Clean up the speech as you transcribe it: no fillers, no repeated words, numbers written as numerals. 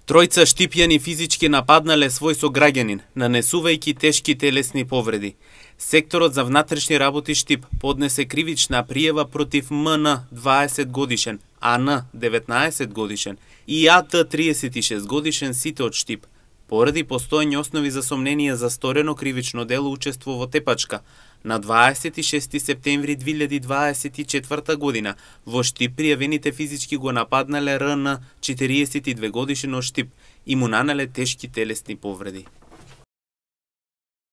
Тројца Штипјани физички нападнале свој сограѓанин, нанесувајќи тешки телесни повреди. Секторот за внатрешни работи Штип поднесе кривична пријава против МН 20 годишен, АН 19 годишен и АТ 36 годишен, сите од Штип, поради постоење основи за сомнение за сторено кривично дело учество во тепачка. На 26 септември 2024 година во Штип пријавените физички го нападнале РН 42 годишен од Штип и му нанеле тешки телесни повреди.